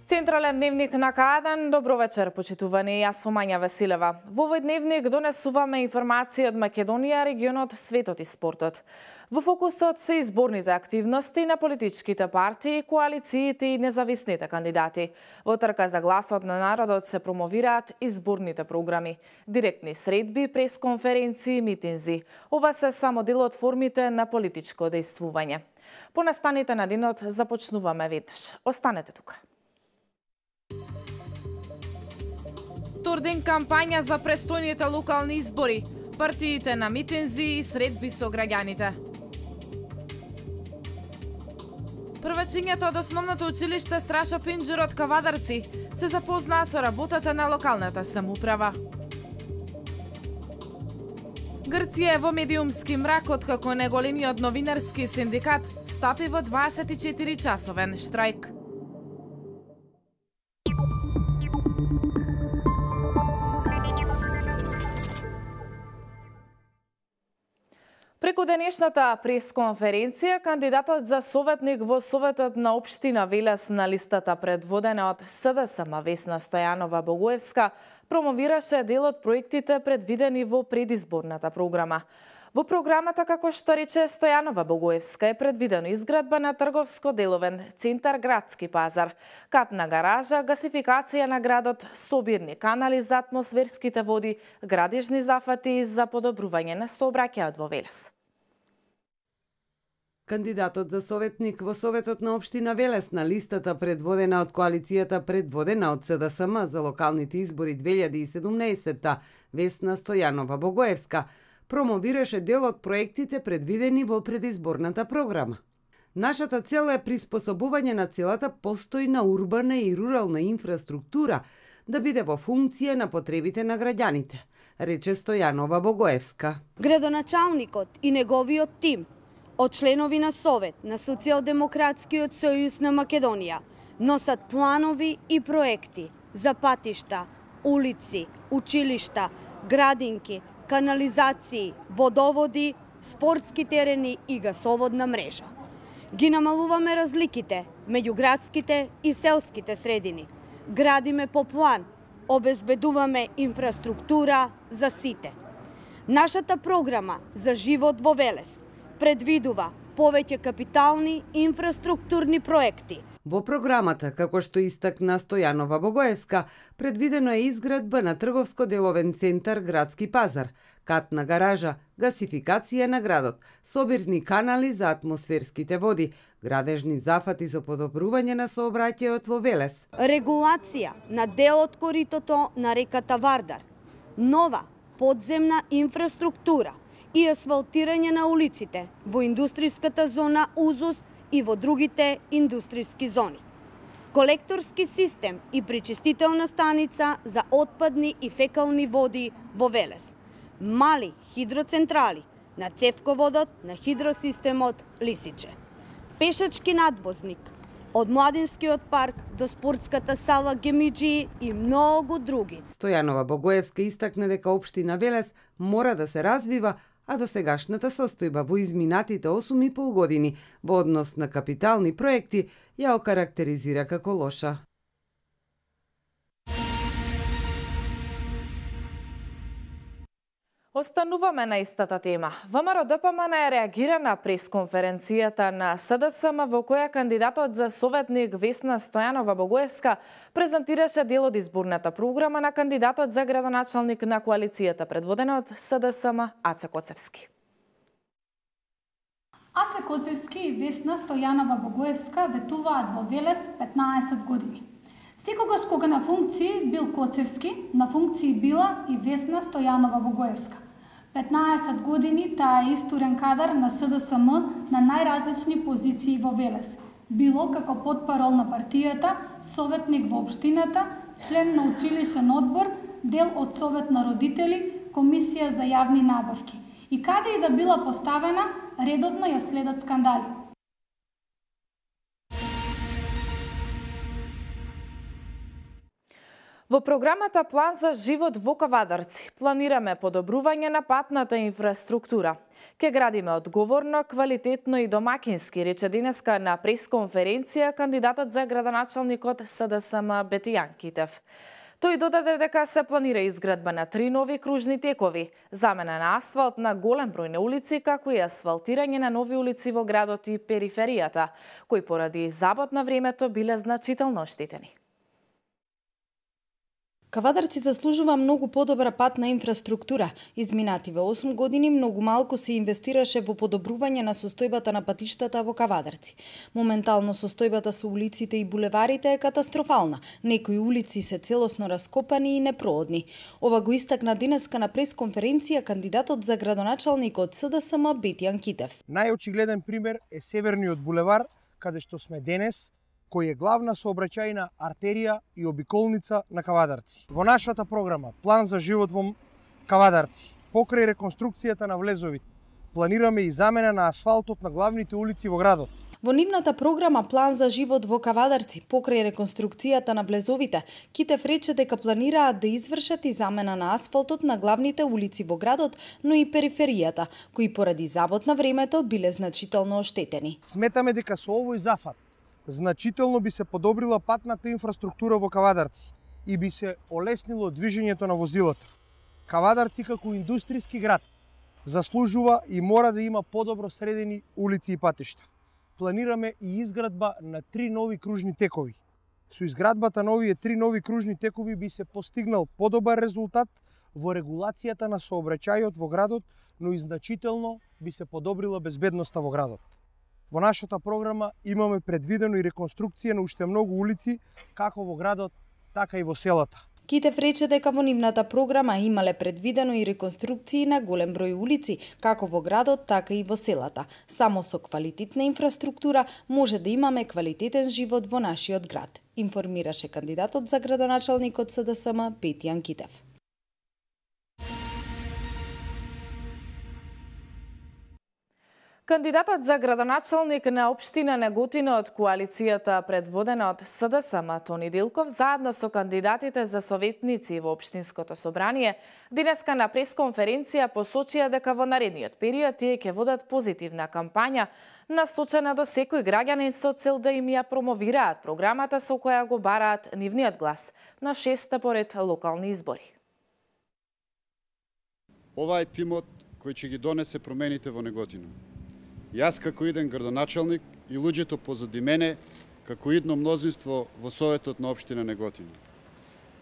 Централен дневник на К1. Добро вечер, почитувани. Јас сум Мања Василева. Во овој дневник донесуваме информации од Македонија, регионот, светот и спортот. Во фокусот се изборните активности на политичките партии, коалициите и независните кандидати. Во трка за гласот на народот се промовираат изборните програми, директни средби, пресконференции и митинзи. Ова се само дел од формите на политичко дејствување. По настаните на денот започнуваме веднаш. Останете тука. Втор ден кампања за престојните локални избори, партиите на митинзи и средби со граѓаните. Првачињата од основното училиште Страшо Пинџер од Кавадарци се запознаа со работата на локалната самоуправа. Грција е во медиумски мрак откако неголемиот новинарски синдикат стапи во 24-часовен штрајк. Преку денешната пресконференција, кандидатот за советник во Советот на општина Велес на листата предводена од СДСМ Весна Стојанова Богоевска промовираше дел од проектите предвидени во предизборната програма. Во програмата, како што рече Стојанова Богоевска, е предвидено изградба на трговско-деловен центар Градски пазар, катна гаража, гасификација на градот, собирни канали за атмосферските води, градежни зафати за подобрување на сообраќајот во Велес. Кандидатот за советник во Советот на општина Велес на листата предводена од коалицијата предводена од СДСМ за локалните избори 2017, Весна Стојанова Богоевска, промовираше дел од проектите предвидени во предизборната програма. Нашата цел е приспособување на целата постојна урбана и рурална инфраструктура да биде во функција на потребите на граѓаните, рече Стојанова Богоевска. Градоначалникот и неговиот тим од членови на Совет на Социјалдемократскиот сојуз на Македонија носат планови и проекти за патишта, улици, училишта, градинки, канализации, водоводи, спортски терени и гасоводна мрежа. Ги намалуваме разликите меѓу градските и селските средини. Градиме по план, обезбедуваме инфраструктура за сите. Нашата програма за живот во Велес предвидува повеќе капитални инфраструктурни проекти. Во програмата, како што истакна Стојанова Богоевска, предвидено е изградба на трговско-деловен центар Градски пазар, катна гаража, гасификација на градот, собирни канали за атмосферските води, градежни зафати за подобрување на сообраќајот во Велес. Регулација на дел од коритото на реката Вардар, нова подземна инфраструктура и асфалтирање на улиците во индустријската зона Узус и во другите индустријски зони. Колекторски систем и пречистителна станица за отпадни и фекални води во Велес. Мали хидроцентрали на цевководот на хидросистемот Лисиче. Пешачки надвозник од Младинскиот парк до спортската сала Гемиџи и многу други. Стојанова Богоевска истакна дека општина Велес мора да се развива, а досегашната состојба во изминатите 8,5 години во однос на капитални проекти ја окарактеризира како лоша. Остануваме на истата тема. ВМРО ДПМН реагира на пресконференцијата на СДСМ во која кандидатот за советник Весна Стојанова Богоевска презентираше дел од изборната програма на кандидатот за градоначалник на коалицијата предводена од СДСМ Аце Коцевски. Аце Коцевски и Весна Стојанова Богоевска ветуваат во Велес 15 години. Секогаш кога на функции бил Коцевски, на функции била и Весна Стојанова Богоевска. 15 години таа е истурен кадар на СДСМ на најразлични позиции во Велес. Било како потпарол на партијата, советник во општината, член на училишен одбор, дел од Совет на родители, комисија за јавни набавки. И каде и да била поставена, редовно ја следат скандали. Во програмата План за живот во Кавадарци планираме подобрување на патната инфраструктура. Ке градиме одговорно, квалитетно и домакински, рече денеска на пресконференција кандидатот за градоначалник од СДСМ Бетијан Китев. Тој додаде дека се планира изградба на 3 нови кружни текови, замена на асфалт на голем број на улици, како и асфалтирање на нови улици во градот и периферијата, кои поради забот на времето биле значително оштетени. Кавадарци заслужува многу подобра патна инфраструктура. Изминативе 8 години многу малку се инвестираше во подобрување на состојбата на патиштата во Кавадарци. Моментално состојбата со улиците и булеварите е катастрофална. Некои улици се целосно раскопани и непроодни. Ова го истакна денеска на пресконференција кандидатот за градоначалник од СДСМ Бетијан Китев. Најочигледен пример е Северниот булевар, каде што сме денес, кој е главна сообраќајна артерија и обиколница на Кавадарци. Во нашата програма План за живот во Кавадарци, покрај реконструкцијата на влезовите, планираме и замена на асфалтот на главните улици во градот. Во нивната програма План за живот во Кавадарци, покрај реконструкцијата на влезовите, Китев рече дека планираат да извршат и замена на асфалтот на главните улици во градот, но и периферијата, кои поради забот на времето биле значително оштетени. Сметаме дека со овој зафат значително би се подобрила патната инфраструктура во Кавадарци и би се олеснило движењето на возилата. Кавадарци како индустријски град заслужува и мора да има подобро средени улици и патишта. Планираме и изградба на 3 нови кружни текови. Со изградбата на овие 3 нови кружни текови би се постигнал подобар резултат во регулацијата на сообраќајот во градот, но и значително би се подобрила безбедноста во градот. Во нашата програма имаме предвидено и реконструкција на уште многу улици, како во градот, така и во селата. Китев рече дека во нивната програма имале предвидено и реконструкции на голем број улици, како во градот, така и во селата. Само со квалитетна инфраструктура може да имаме квалитетен живот во нашиот град, информираше кандидатот за градоначалник од СДСМ Бетијан Китев. Кандидатот за градоначалник на општина Неготино од коалицијата предводена од СДСМ Тони Делков заедно со кандидатите за советници во општинското собрание денеска на пресконференција посочија дека во наредниот период тие ќе водат позитивна кампања насочена до секој граѓанин со цел да им ја промовираат програмата со која го бараат нивниот глас на 6-та поред локални избори. Ова е тимот кој ќе ги донесе промените во Неготино. Јас како иден градоначалник и луѓето позади мене како идно мнозинство во Советот на општина Неготино.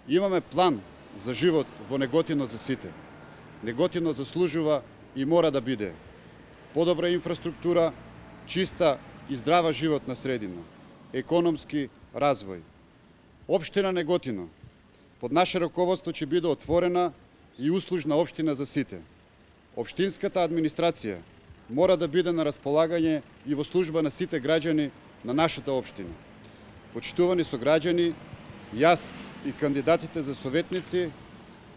Имаме план за живот во Неготино за сите. Неготино заслужува и мора да биде подобра инфраструктура, чиста и здрава животна средина, економски развој. Општина Неготино под наше раководство ќе биде отворена и услужна општина за сите. Општинската администрација мора да биде на располагање и во служба на сите граѓани на нашата општина. Почитувани сограѓани, јас и кандидатите за советници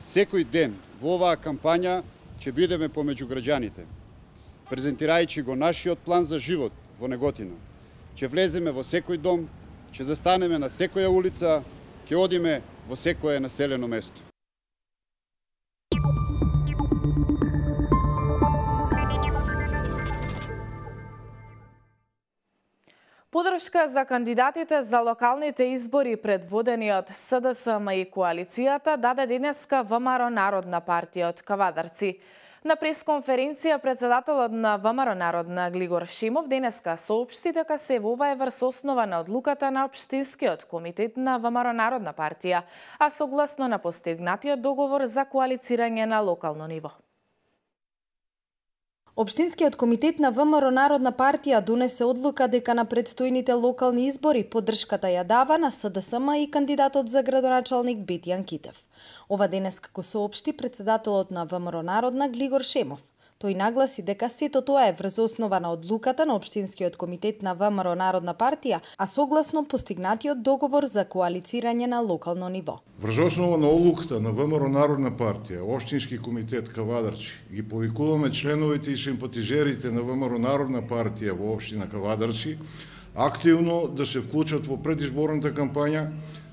секој ден во оваа кампања ќе бидеме помеѓу граѓаните. Презентирајќи го нашиот план за живот во Неготино, ќе влеземе во секој дом, ќе застанеме на секоја улица, ќе одиме во секое населено место. Подршка за кандидатите за локалните избори предводени од СДСМ и коалицијата даде денеска ВМРО Народна партија од Кавадарци. На пресконференција председателот на ВМРО Народна Глигор Шемов денеска соопшти дека се ова е врз основа на одлуката на општинскиот комитет на ВМРО Народна партија, а согласно на постигнатиот договор за коалицирање на локално ниво. Општинскиот комитет на ВМРО Народна партија донесе одлука дека на предстојните локални избори поддршката ја дава на СДСМ и кандидатот за градоначалник Бетијан Китев. Ова денеска го соопшти председателот на ВМРО Народна Глигор Шемов. Тој нагласи дека сето тоа е врз основа на одлуката на Општинскиот комитет на ВМРО Народна партија, а согласно постигнатиот договор за коалицирање на локално ниво. Врз основа на одлуката на ВМРО Народна партија, Општински комитет Кавадарци, ги повикуваме членовите и симпатизерите на ВМРО Народна партија во општина Кавадарци активно да се вклучат во предизборната кампања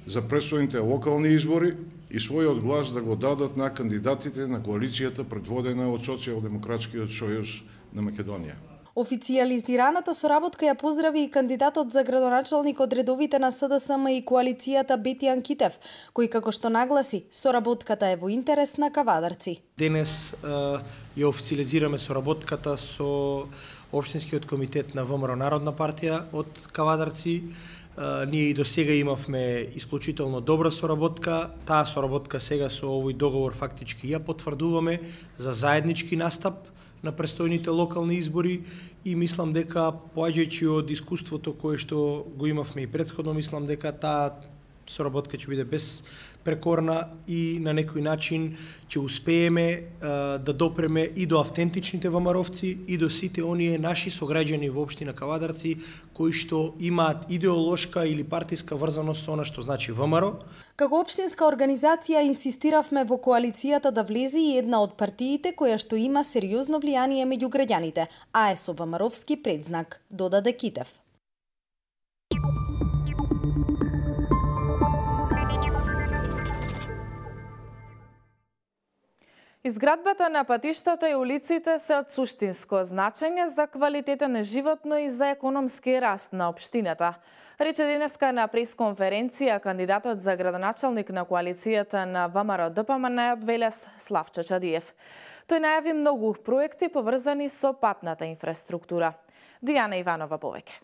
за предстојните локални избори и својот глас да го дадат на кандидатите на коалицијата предводена од Социјалдемократскиот сојуз на Македонија. Официјализираната соработка ја поздрави и кандидатот за градоначалник од редовите на СДСМ и коалицијата Бетијан Китев, кој како што нагласи, соработката е во интерес на кавадарци. Денес ја официјализираме соработката со Општинскиот комитет на ВМРО Народна партија од кавадарци. Ние и до сега имавме исклучително добра соработка. Таа соработка сега со овој договор фактички ја потврдуваме за заеднички настап на престојните локални избори и мислам дека поаѓајќи од искуството кое што го имавме и претходно, мислам дека таа соработка ќе биде безпрекорна и на некој начин ќе успееме да допреме и до автентичните ВМРО-вци и до сите оние наши сограѓани во општина Кавадарци кои што имаат идеолошка или партиска врзаност со она што значи ВМРО. Како општинска организација инсистиравме во коалицијата да влезе и една од партиите која што има сериозно влијание меѓу граѓаните, а е со ВМРО-вски предзнак, додаде Китев. Изградбата на патиштата и улиците се од суштинско значење за квалитетен живот, но и за економски раст на општината. Рече денеска на пресконференција кандидатот за градоначалник на коалицијата на ВМРО-ДПМН од Велес Славчо Чадиев. Тој најави многу проекти поврзани со патната инфраструктура. Дијана Иванова повеќе.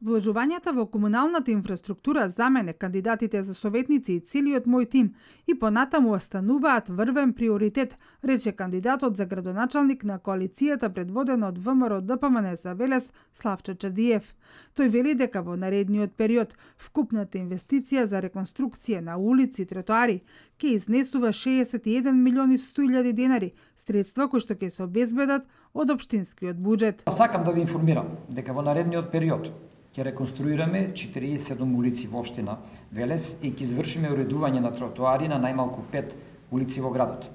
Вложувањата во комуналната инфраструктура за мене, кандидатите за советници и целиот мој тим и понатаму остануваат врвен приоритет, рече кандидатот за градоначалник на коалицијата предводена од ВМРО-ДПМН за Велес Славчо Чадиев. Тој вели дека во наредниот период вкупната инвестиција за реконструкција на улици и тротоари ќе изнесува 61 милиони 100.000 денари, средства кои што ќе се обезбедат од општинскиот буџет. Сакам да ви информирам дека во наредниот период ќе реконструираме 47 улици во општина Велес и ќе извршиме уредување на тротоари на најмалку 5 улици во градот.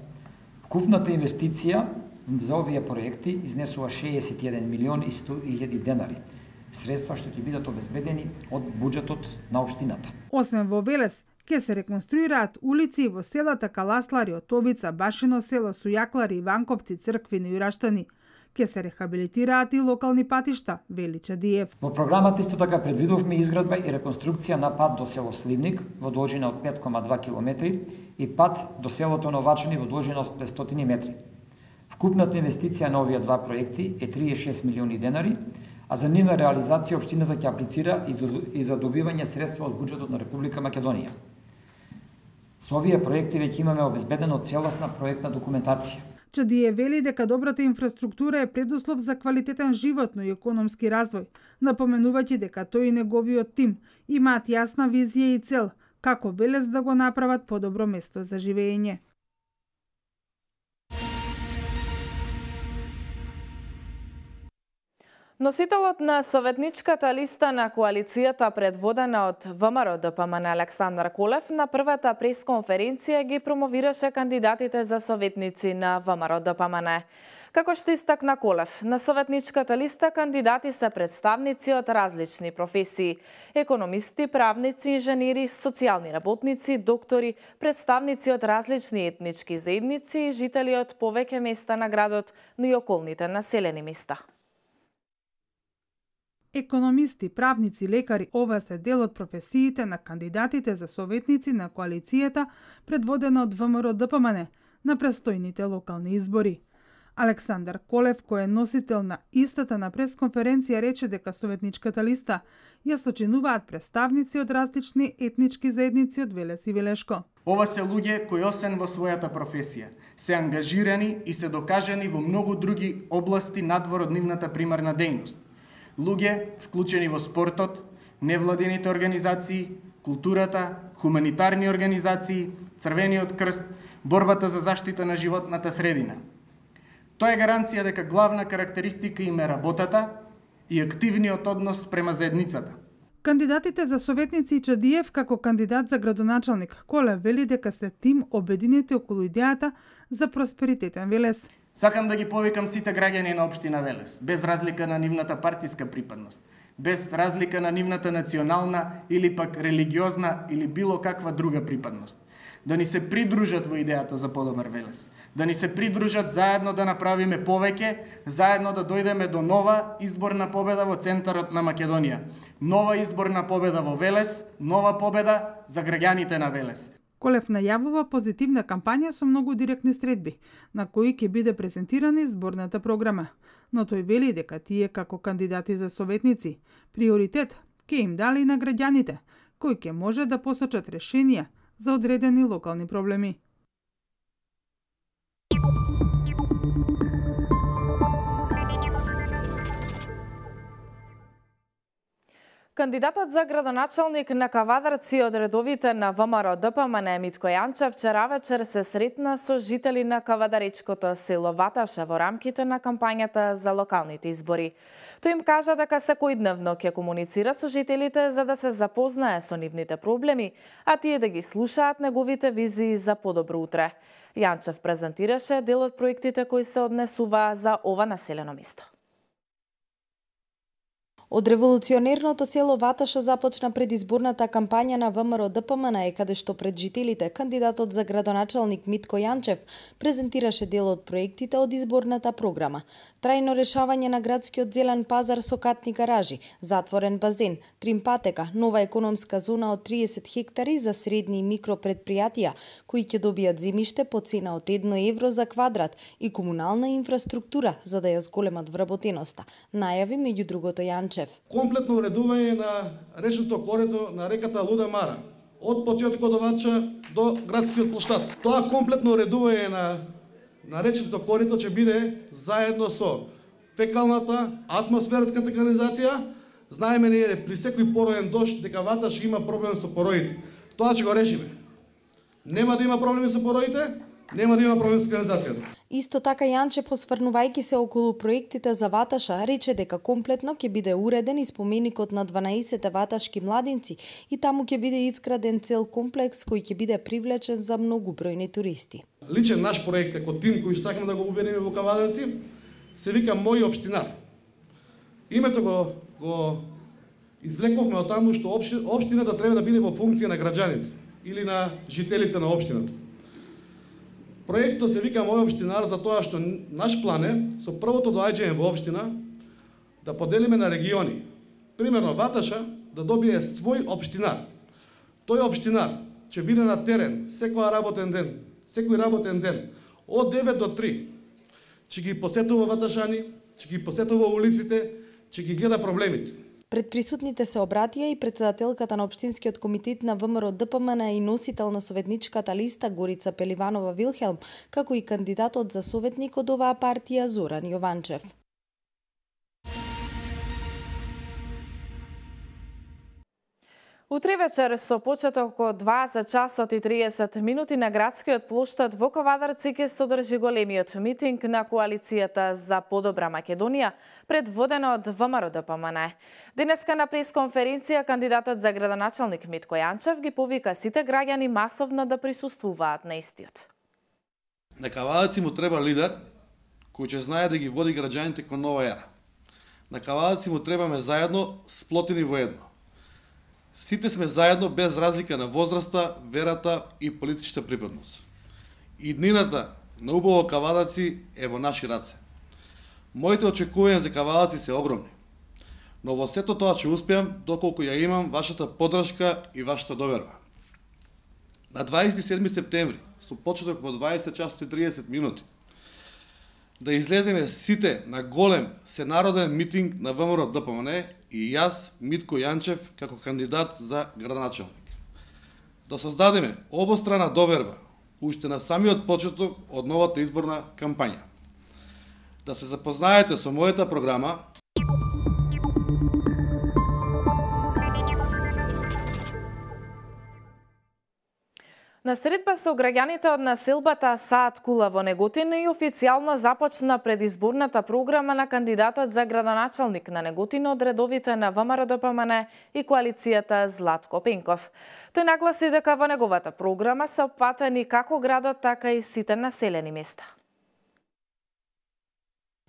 Вкупната инвестиција за овие проекти изнесува 61 милиони 100.000 денари, средства што ќе бидат обезбедени од буџетот на општината. Освен во Велес, ќе се реконструираат улици во селата Каласлари, Отовица, Башино село, Сујаклари, Иванковци, Црквини и Раштани. Ке се рехабилитираат и локални патишта, вели Чадиев. Во програмата исто така предвидовме изградба и реконструкција на пат до село Сливник во должина од 5,2 км и пат до селото Новачани во должина од 500 метри. Вкупната инвестиција на овие два проекти е 36 милиони денари, а за нивна реализација општината ќе аплицира и за добивање средства од буџетот на Република Македонија. Со овие проекти веќе имаме обезбедено целосна проектна документација. Чадиев вели дека добрата инфраструктура е предуслов за квалитетен живот, но и економски развој, напоменувајќи дека тој и неговиот тим имаат јасна визија и цел како Велес да го направат подобро место за живење. Носителот на советничката листа на коалицијата предводена од ВМРО-ДПМН Александар Колев на првата пресконференција ги промовираше кандидатите за советници на ВМРО-ДПМН. Како што истакна Колев, на советничката листа кандидати се представници од различни професии: економисти, правници, инженери, социјални работници, доктори, представници од различни етнички заедници и жители од повеќе места на градот, но и околните населени места. Економисти, правници, лекари, ова се дел од професиите на кандидатите за советници на коалицијата предводена од ВМРО-ДПМН на престојните локални избори. Александар Колев, кој е носител на истата на пресконференција, рече дека советничката листа ја сочинуваат представници од различни етнички заедници од Велес и Велешко. Ова се луѓе кои освен во својата професија се ангажирани и се докажани во многу други области надвор од нивната примарна дејност. Луѓе вклучени во спортот, невладените организации, културата, хуманитарни организации, Црвениот крст, борбата за заштита на животната средина. Тоа е гаранција дека главна карактеристика им е работата и активниот однос према заедницата. Кандидатите за советници Чадиев како кандидат за градоначалник Колев вели дека се тим обединети околу идејата за просперитетен Велес. Сакам да ги повикам сите граѓани на општина Велес, без разлика на нивната партиска припадност, без разлика на нивната национална или пак религиозна или било каква друга припадност. Да ни се придружат во идејата за подобар Велес. Да ни се придружат заедно да направиме повеќе, заедно да дојдеме до нова изборна победа во центарот на Македонија. Нова изборна победа во Велес, нова победа за граѓаните на Велес. Колев најавува позитивна кампања со многу директни средби, на кои ќе биде презентирана изборната програма. Но тој вели дека тие како кандидати за советници, приоритет ќе им дали на граѓаните, кои ќе може да посочат решенија за одредени локални проблеми. Кандидатот за градоначалник на Кавадарци од редовите на ВМРО ДПМН Митко Јанчев вчера вечер се сретна со жители на кавадаречкото село Ваташа во рамките на кампањата за локалните избори. Тој им кажа дека секојдневно ќе комуницира со жителите за да се запознае со нивните проблеми, а тие да ги слушаат неговите визии за подобро утре. Јанчев презентираше дел од проектите кои се однесуваа за ова населено место. Од револуционерното село Ваташа започна предизборната кампања на ВМРО ДПМН, каде што пред жителите кандидатот за градоначалник Митко Јанчев презентираше дел од проектите од изборната програма. Трајно решавање на градскиот зелен пазар со катни гаражи, затворен базен, тримпатека, нова економска зона од 30 хектари за средни и микро предпријатија, кои ќе добијат земјиште по цена од 1 евро за квадрат и комунална инфраструктура за да ја зголемат вработеноста, најави меѓу другото Јанчев. Комплетно уредување на речното корито на реката Луда Мара, од почетокот од Ваташа до градскиот плоштад. Тоа комплетно уредување на речното корито ќе биде заедно со фекалната, атмосферската канализација. Знаеме ние при секој пороен дожд дека Ваташ има проблем со пороите. Тоа ќе го решиме. Нема да има проблеми со пороите, нема да има проблем со канализацијата. Исто така Јанчев, осврнувајќи се околу проектите за Ваташа, рече дека комплетно ќе биде уреден и споменикот на 12 ваташки младинци и таму ќе биде изграден цел комплекс кој ќе биде привлечен за многубројни туристи. Личен наш проект како тим кој сакаме да го уведеме во Кавадарци се вика Мој општинар. Името го извлековме од таму што општината треба да биде во функција на граѓаните или на жителите на општината. Проектот се вика Мој општинар за тоа што наш план е со првото доаѓање во општина да поделиме на региони. Примерно Ваташа да добие свој општинар. Тој општинар ќе биде на терен секој работен ден од 9 до 3. Ќе ги посетува ваташани, ќе ги посетува улиците, ќе ги гледа проблемите. Пред присутните се обратија и председателката на Општинскиот комитет на ВМРО ДПМН и носител на советничката листа Горица Пеливанова Вилхелм, како и кандидатот за советник од оваа партија Зоран Јованчев. Утре вечер со почеток од 2 часот и 30 минути на градскиот плоштад во Кавадарци ќе се одржи големиот митинг на коалицијата за подобра Македонија, предводена од ВМРО ДПМН. Денеска на пресконференција кандидатот за градоначалник Митко Јанчев ги повика сите граѓани масовно да присуствуваат на истиот. На Кавадарци му треба лидер кој ќе знае да ги води граѓаните кон нова ера. На Кавадарци му требаме заедно, сплотени во едно. Сите сме заедно без разлика на возраста, верата и политичка припадност. Иднината на убаво Кавадарци е во наши раце. Моите очекувања за Кавадарци се огромни. Но во сето тоа ќе успеам доколку ја имам вашата поддршка и вашата доверба. На 27 септември, со почеток во 20 часот и 30 минути, да излеземе сите на голем сенароден митинг на ВМРО ДПМН и јас, Митко Јанчев, како кандидат за градоначалник. Да создадеме обострана доверба уште на самиот почеток од новата изборна кампања. Да се запознаете со мојата програма. На средба со граѓаните од населбата Саат Кула во Неготин и официјално започна предизборната програма на кандидатот за градоначалник на Неготин од редовите на ВМРО ДПМН и коалицијата Златко Пенков. Тој нагласи дека во неговата програма се опфатени како градот, така и сите населени места.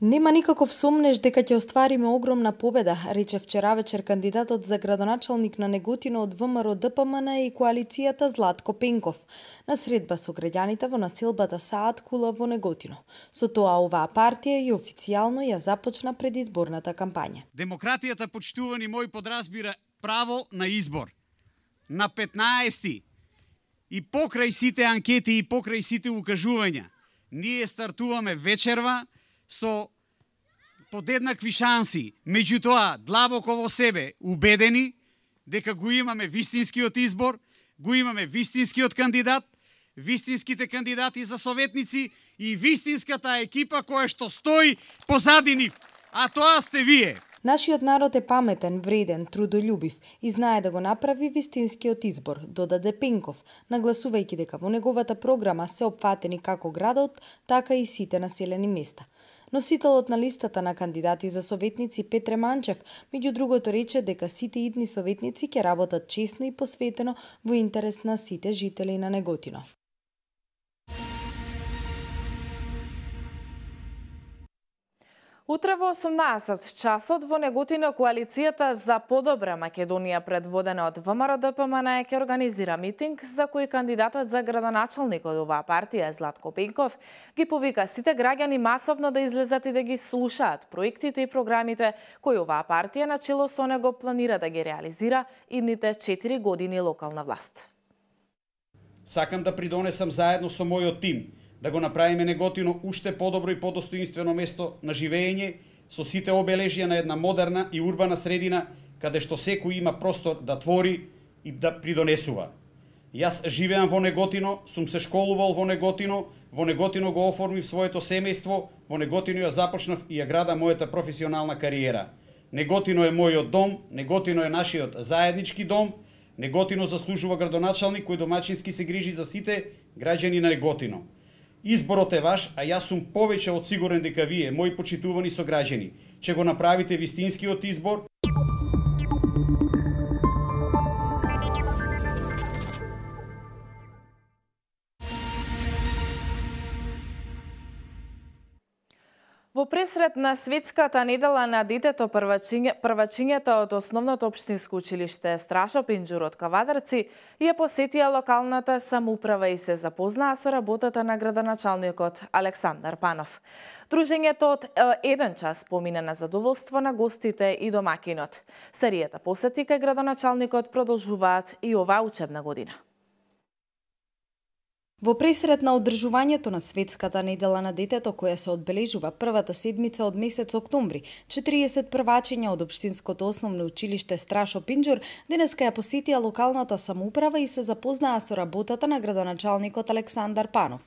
Нема никаков сомнеж дека ќе оствариме огромна победа, рече вчера вечер кандидатот за градоначалник на Неготино од ВМРО ДПМН и коалицијата Златко Пенков на средба со граѓаните во населбата Саат Кула во Неготино. Со тоа оваа партија и официјално ја започна предизборната кампања. Демократијата, почитувани мои, подразбира право на избор. На 15 и покрај сите анкети и покрај сите укажувања, ние стартуваме вечерва со подеднакви шанси, меѓутоа длабоко во себе убедени дека го имаме вистинскиот избор, го имаме вистинскиот кандидат, вистинските кандидати за советници и вистинската екипа која што стои позади нив, а тоа сте вие. Нашиот народ е паметен, вреден, трудолюбив и знае да го направи вистинскиот избор, додаде Пенков, нагласувајќи дека во неговата програма се опфатени како градот, така и сите населени места. Носителот на листата на кандидати за советници Петре Манчев, меѓу другото, рече дека сите идни советници ќе работат честно и посветено во интерес на сите жители на Неготино. Утре во 18 часот во Неготино коалицијата за подобра Македонија предводена од ВМРО ДПМН ќе организира митинг за кој кандидатот за градоначалник од оваа партија Златко Пенков ги повика сите граѓани масовно да излезат и да ги слушаат проектите и програмите кои оваа партија на чело со него планира да ги реализира идните 4 години локална власт. Сакам да придонесам заедно со мојот тим да го направиме Неготино уште подобро и подостоинствено место на живење со сите обележја на една модерна и урбана средина каде што секој има простор да твори и да придонесува. Јас живеам во Неготино, сум се школувал во Неготино го оформив своето семејство, во Неготино ја започнав и ја града мојата професионална кариера. Неготино е мојот дом, Неготино е нашиот заеднички дом, Неготино заслужува градоначалник кој домаќински се грижи за сите граѓани на Неготино. Изборот е ваш, а јас сум повеќе од сигурен дека вие, мои почитувани сограѓани, ќе го направите вистинскиот избор. Во пресрет на Светската недела на детето првачињата од Основното општинско училиште Страшо Пинџур од Кавадарци ја посетија локалната самоуправа и се запознаа со работата на градоначалникот Александар Панов. Дружењето од 1 час помина на задоволство на гостите и домакинот. Серијата посети кај градоначалникот продолжуваат и оваа учебна година. Во пресрет на одржувањето на Светската недела на детето, која се одбележува првата седмица од месец октомври, 40 првачиња од Општинското основно училиште Страшо Пинџур денеска ја посетија локалната самоуправа и се запознаа со работата на градоначалникот Александар Панов.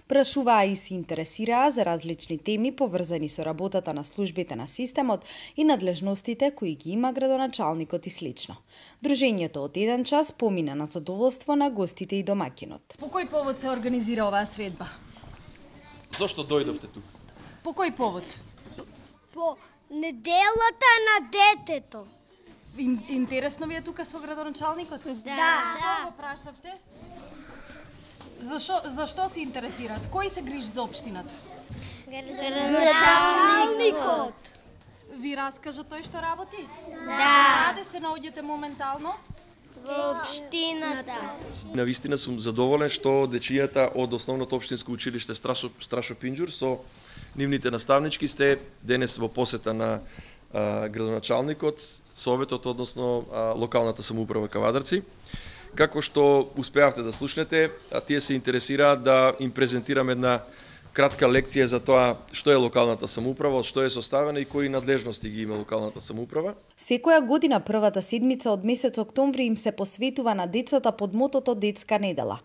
Прашуваа и се интересираа за различни теми поврзани со работата на службите на системот и надлежностите кои ги има градоначалникот и слично. Дружењето од 1 час помина на задоволство на гостите и домакинот. По кој повод се организира оваа средба? Зошто дојдовте тук? По кој повод? По неделата на детето. Интересно ви е тука со градоначалникот? Да. Што го прашавте? Зашто се интересираат? Кој се грижи за општината? Градоначалникот. Ви раскажа тој што работи? Да. Каде се наоѓате моментално? Во општината. Навистина сум задоволен што дечињата од Основното општинско училиште Страшо Пинџур со нивните наставнички сте денес во посета на градоначалникот, советот, односно локалната самоуправа Кавадарци. Како што успеавте да слушнете, тие се интересираат да им презентираме една кратка лекција за тоа што е локалната самоуправа, од што е составена и кои надлежности ги има локалната самоуправа. Секоја година првата седмица од месец октомври им се посветува на децата под мотото Детска недела.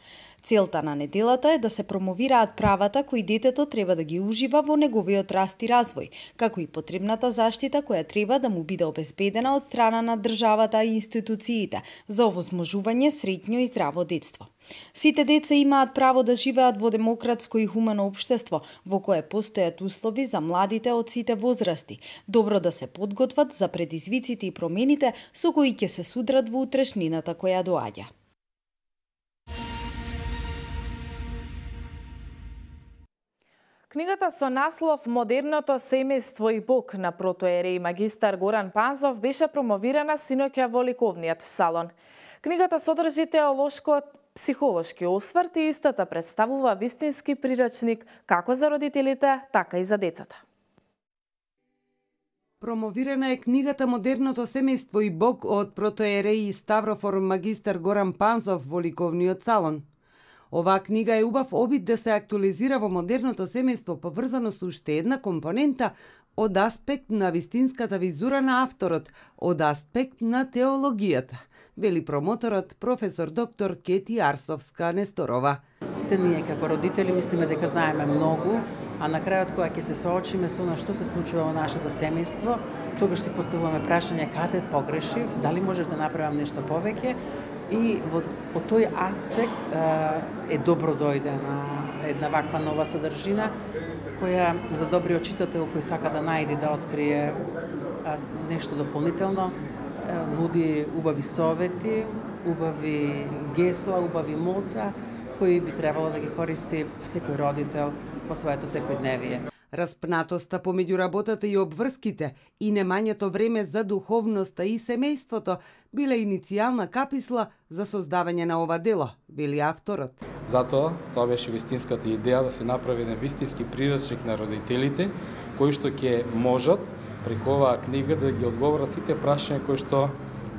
Целта на неделата е да се промовираат правата кои детето треба да ги ужива во неговиот раст и развој, како и потребната заштита која треба да му биде обезбедена од страна на државата и институциите за овозможување среќно и здраво детство. Сите деца имаат право да живеат во демократско и хумано општество, во кое постојат услови за младите од сите возрасти, добро да се подготват за предизвиците и промените со кои ќе се судрат во утрешнината која доаѓа. Книгата со наслов «Модерното семејство и Бог» на протоиерей магистар Горан Панзов беше промовирана синоќа во ликовниот салон. Книгата содржи теолошко-психолошки осврт и истата представува вистински прирачник како за родителите, така и за децата. Промовирана е книгата «Модерното семејство и Бог» од протоиерей и ставрофор магистар Горан Панзов во ликовниот салон. Оваа книга е убав обид да се актуализира во модерното семејство поврзано со уште една компонента од аспект на вистинската визура на авторот, од аспект на теологијата, вели промоторот професор доктор Кети Арсовска-Несторова. Сите ние како родители мислиме дека знаеме многу, а на крајот кога ќе се соочиме со она што се случува во нашето семејство, тогаш си поставуваме прашање каде погрешив, дали можев да направам нешто повеќе, и од тој аспект е добро дојде на една ваква нова содржина која за добриот читател кој сака да најде, да открие нешто дополнително, нуди убави совети, убави гесла, убави мота кои би требало да ги користи секој родител во своето секојдневие. Распнатоста помеѓу работата и обврските и немањето време за духовноста и семејството биле иницијална каписла за создавање на ова дело, вели авторот. Затоа, тоа беше вистинската идеја да се направи еден вистински прирачник на родителите, кои што ќе можат преку оваа книга да ги одговорат сите прашања кои што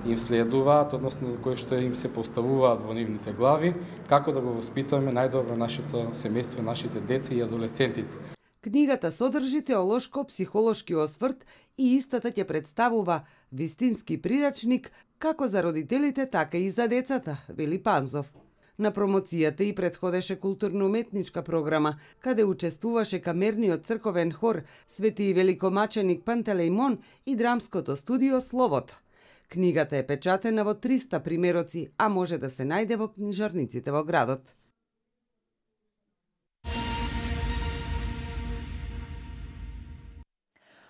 им следуваат, односно кои што им се поставуваат во нивните глави, како да го воспитаме најдобро нашето семејство, нашите деца и адолесцентите. Книгата содржи теолошко-психолошки осврт и истата ќе представува вистински прирачник како за родителите, така и за децата, вели Панзов. На промоцијата и претходеше културно-уметничка програма, каде учествуваше камерниот црковен хор Свети великомаченик Пантелејмон и драмското студио Словото. Книгата е печатена во 300 примероци, а може да се најде во книжарниците во градот.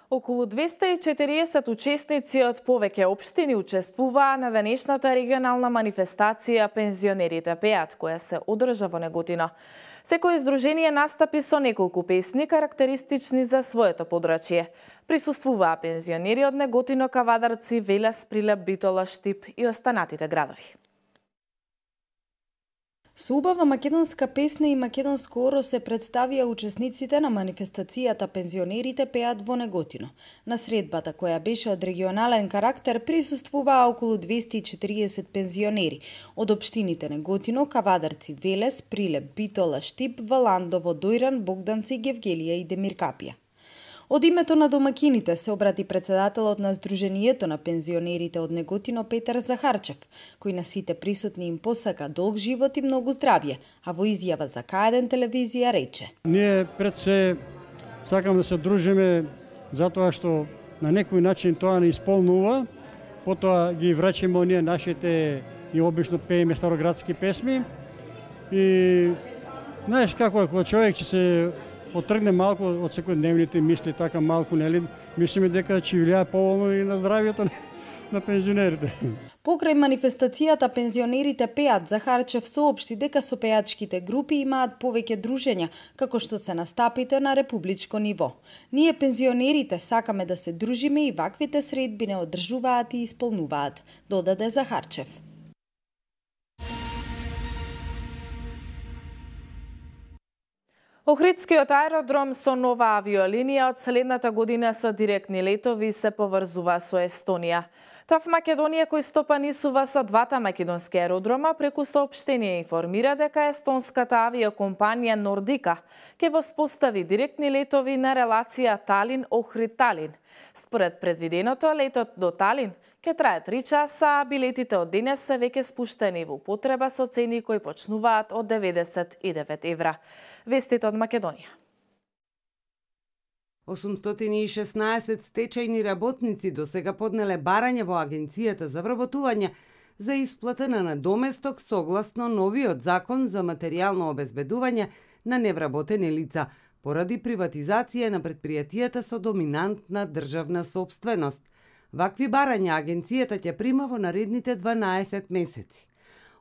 Околу 240 учесници од повеќе општини учествуваа на денешната регионална манифестација Пензионерите пеат, која се одржа во Неготино. Секој издружение настапи со неколку песни карактеристични за своето подрачје. Присуствуваа пензионери од Неготино, Кавадарци, Велес, Прилеп, Битола, Штип и останатите градови. Со убава македонска песна и македонско оро се представија учесниците на манифестацијата Пензионерите пеат во Неготино. На средбата, која беше од регионален карактер, присуствуваа околу 240 пензионери од општините Неготино, Кавадарци, Велес, Прилеп, Битола, Штип, Валандово, Дојран, Богданци, Гевгелија и Демиркапија. Од името на домакините се обрати председателот на Сдруженијето на пензионерите од Неготино Петар Захарчев, кој на сите присутни им посака долг живот и многу здравје, а во изјава за К1 телевизија рече: Ние пред се сакам да се дружиме затоа што на некој начин тоа не исполнува, потоа ги враќаме оние нашите и обично пееме староградски песми и знаеш како е кога човек ќе се отргне малку од секојдневните мисли, така малку, нели, мислиме дека ќе влијае поволно и на здравјето на пензионерите. Покрај манифестацијата Пензионерите пеат, Захарчев соопшти дека со пеачките групи имаат повеќе дружења, како што се настапите на републичко ниво. Ние пензионерите сакаме да се дружиме и ваквите средби не одржуваат и исполнуваат, додаде Захарчев. Охридскиот аеродром со нова авиолинија од следната година со директни летови се поврзува со Естонија. ТАВ Македонија, кој стопанисува со двата македонски аеродрома, преку соопштение информира дека естонската авиокомпанија Нордика ќе воспостави директни летови на релација Талин-Охрид-Талин. Според предвиденото, летот до Талин ќе трае 3 часа, а билетите од денес се веќе спуштени во употреба со цени кои почнуваат од 99 евра. Вестите од Македонија. 816 стечајни работници досега поднеле барање во Агенцијата за вработување за исплата на надоместок согласно новиот закон за материјално обезбедување на невработени лица поради приватизација на предпријатијата со доминантна државна собственост. Вакви барања агенцијата ќе прима во наредните 12 месеци.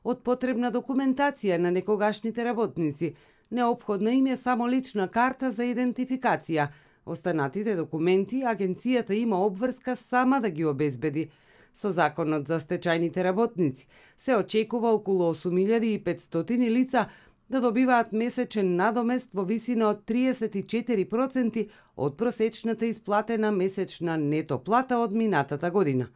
Од потребна документација на некогашните работници Неопходна им е само лична карта за идентификација. Останатите документи агенцијата има обврска сама да ги обезбеди. Со законот за стечајните работници се очекува околу 8500 лица да добиваат месечен надомест во висина од 34% од просечната исплатена месечна нето плата од минатата година.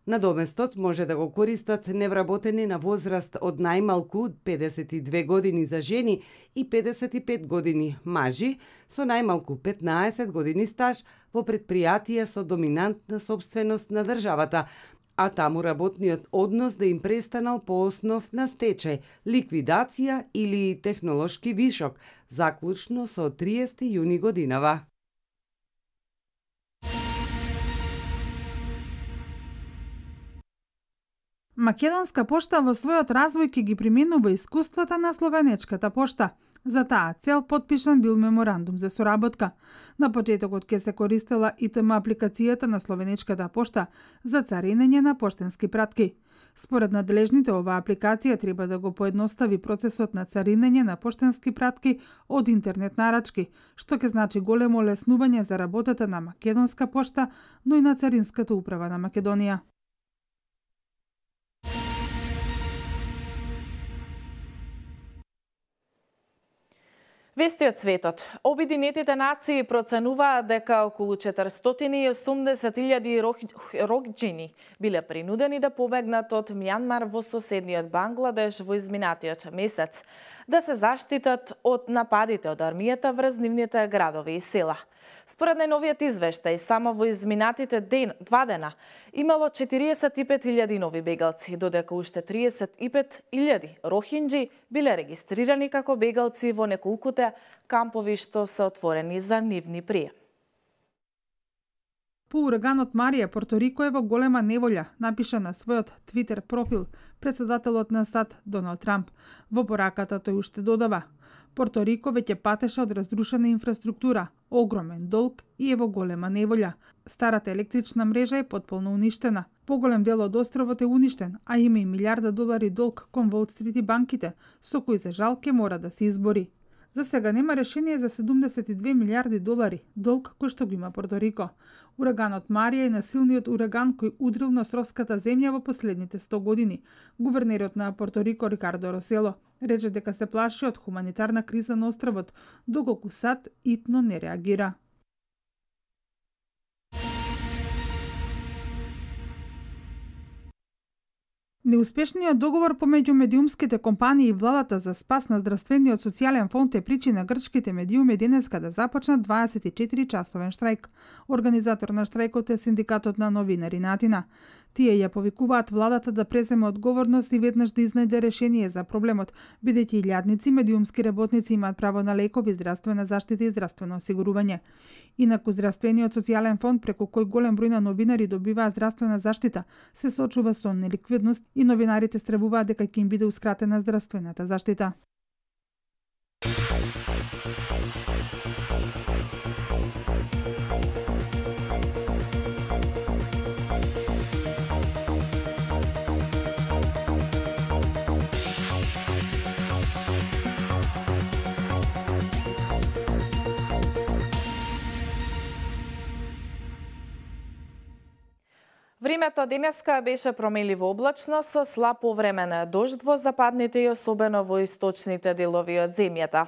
Надоместот може да го користат невработени на возраст од најмалку 52 години за жени и 55 години мажи со најмалку 15 години стаж во предпријатија со доминантна собственост на државата, а таму работниот однос да им престанал по основ на стечај, ликвидација или технолошки вишок, заклучно со 30 јуни годинава. Македонска пошта во својот развој ќе ги применува искуствата на словенечката пошта. За таа цел потпишан бил меморандум за соработка. На почетокот ќе се користела ИТМ апликацијата на словенечката пошта за царинење на поштенски пратки. Според надлежните, оваа апликација треба да го поедностави процесот на царинење на поштенски пратки од интернет нарачки, што ќе значи големо олеснување за работата на Македонска пошта, но и на Царинската управа на Македонија. Вести од светот. Обединетите нации проценуваат дека околу 480.000 рохињи биле принудени да побегнат од Мјанмар во соседниот Бангладеш во изминатиот месец, да се заштитат од нападите од армијата врз нивните градови и села. Според најновиот извештај, само во изминатите 2 дена имало 45.000 нови бегалци, додека уште 35.000 рохинџи биле регистрирани како бегалци во неколкуте кампови што се отворени за нивни прием. По ураганот Марија, Порто Рико е во голема неволја, напиша на својот Твитер профил претседателот на САД Доналд Трамп. Во пораката тој уште додава: Порто Рико веќе патеше од разрушена инфраструктура, огромен долг и е во голема неволја. Старата електрична мрежа е потполно уништена. Поголем дел од островот е уништен, а има и $1.000 долг кон Wall Street и банките, со кој за жал ќе мора да се избори. За сега нема решение за $72 милиарди долг кој што го има Порто Рико. Ураганот Марија е насилниот ураган кој удрил на островската земја во последните 100 години. Гувернерот на Порто Рико Рикардо Росело рече дека се плаши од хуманитарна криза на островот, доколку САД итно не реагира. Неуспешниот договор помеѓу медиумските компании и владата за спас на здравствениот социјален фонд е причина грчките медиуми денеска да започнат 24-часовен штрајк. Организатор на штрајкот е Синдикатот на новинари на Атина. Тие ја повикуваат владата да преземе одговорност и веднаш да изнајде решение за проблемот, бидејќи илјадници медиумски работници имаат право на лекови, здравствена заштита и здравствено осигурување. Инаку здравствениот социјален фонд, преку кој голем број на новинари добиваат здравствена заштита, се соочува со неликвидност и новинарите стравуваат дека ќе им бидеускратена здравствената заштита. Времето денеска беше промеливо облачно со слаб повремен дожд во западните и особено во источните делови од земјата.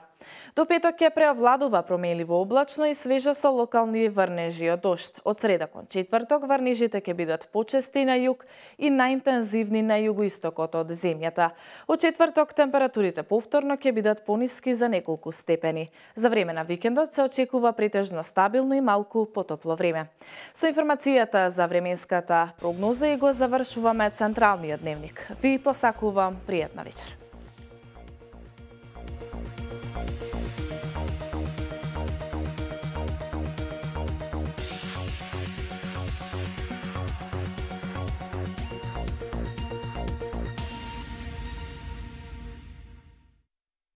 До петок ќе преовладува промеливо облачно и свежа со локални врнежи од дожд. Од среда кон четврток врнежите ќе бидат почести на југ и најинтензивни на југоистокот од земјата. Од четврток температурите повторно ќе бидат пониски за неколку степени. За време на викендот се очекува претежно стабилно и малку потопло време. Со информацијата за временската прогноза и го завршуваме Централниот дневник. Ви посакувам пријатна вечер.